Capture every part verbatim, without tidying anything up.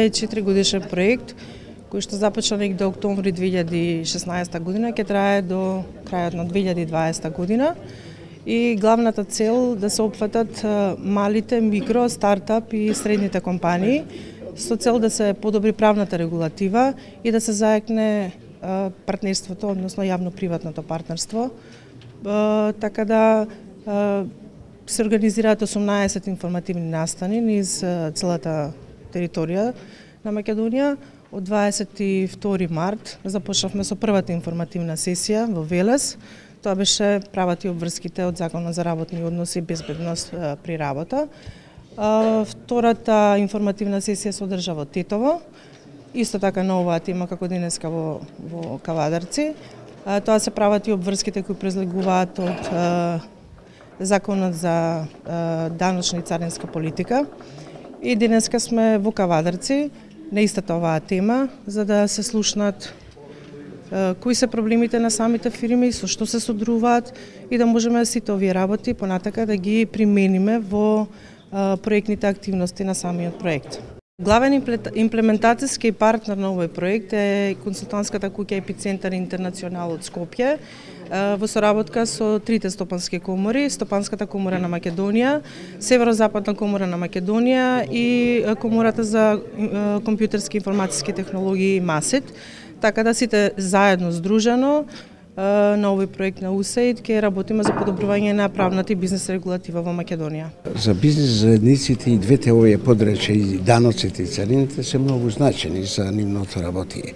е четиригодишен проект кој што започна негде октомври две илјади и шеснаесета година, ќе трае до крајот на две илјади и дваесета година. И главната цел да се опфатат малите, микро, стартап и средните компании со цел да се подобри правната регулатива и да се заекне партнерството, односно јавно-приватното партнерство. Така да се организираат осумнаесет информативни настани низ целата територија на Македонија. Од дваесет и втори март започнавме со првата информативна сесија во Велес. Тоа беше правата и обврските од Законот за работни односи и безбедност при работа. Втората информативна сесија се одржа во Тетово, исто така на оваа тема како денеска во, во Кавадарци. Тоа се прават и обврските кои произлегуваат од Законот за даночна и царинска политика. И денеска сме во Кавадарци на истата оваа тема, за да се слушнат кои се проблемите на самите фирми, со што се содруваат и да можеме сите овие работи понатака да ги примениме во проектните активности на самиот проект. Главен имплементацијски партнер на овој проект е консултантската куќа Епицентар Интернационал од Скопје, во соработка со трите стопански комори, Стопанската комора на Македонија, Северозападна комора на Македонија и Комората за компјутерски информатиски технологии МАСИТ. Така да сите заедно здружено на овој проект на УСАИД ќе работиме за подобрување на правната и бизнес регулатива во Македонија. За бизнес заедниците и двете овие подрачја, и даноците и царините, се многу значени за нивното работење.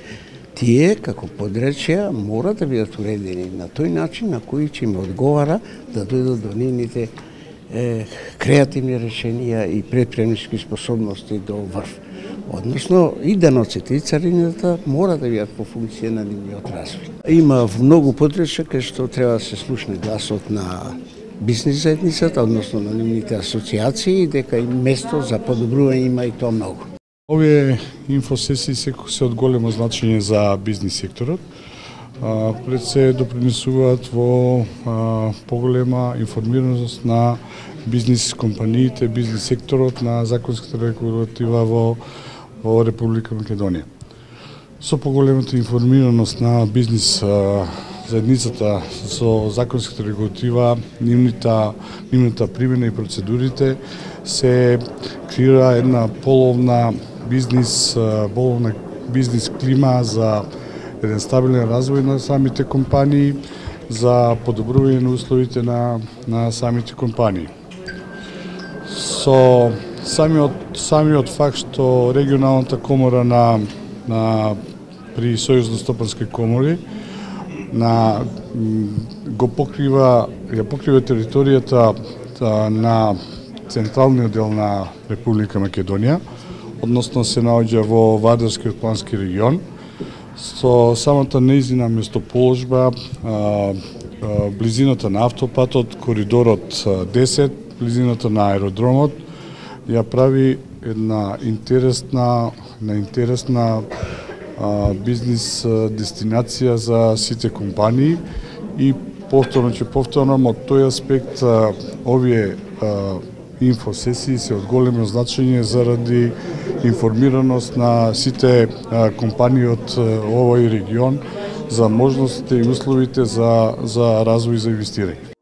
Тие, како подрачја, мора да бидат уредени на тој начин на кој ќе им одговара да дојдат до нивните е, креативни решенија и предприемнички способности до врв. Односно, и даноците и царината мора да бидат по функција на нивниот развој. Има многу подрачја кај што треба да се слушне гласот на бизнес заедницата, односно на нивните асоциации, дека и место за подобрување има и тоа многу. Овие инфосесии се, се од големо значење за бизнес секторот. А, пред се допринесуваат во а, поголема информираност на бизнес компаниите, бизнес секторот, на законската регулатива во, во Република Македонија. Со поголемата информираност на бизнес а, заедницата со законската регулатива, нивната, нивната примена и процедурите се креира една половна бизнес, половна бизнес клима за еден стабилен развој на самите компании, за подобрување на условите на, на самите компании. Со самиот, самиот факт што регионалната комора на, на при Сојузно стопански комори на го покрива ја покрива територијата на централниот дел на Република Македонија, односно се наоѓа во Вардарскиот плански регион, со самата нејзина местоположба, близината на автопатот, коридорот десет, близината на аеродромот, ја прави една интересна, една интересна а, бизнес дестинација за сите компании и повторно ќе повторам од тој аспект а, овие а, инфосесии се од големо значење заради информираност на сите а, компании од а, овој регион за можностите и условите за, за развој за инвестирање.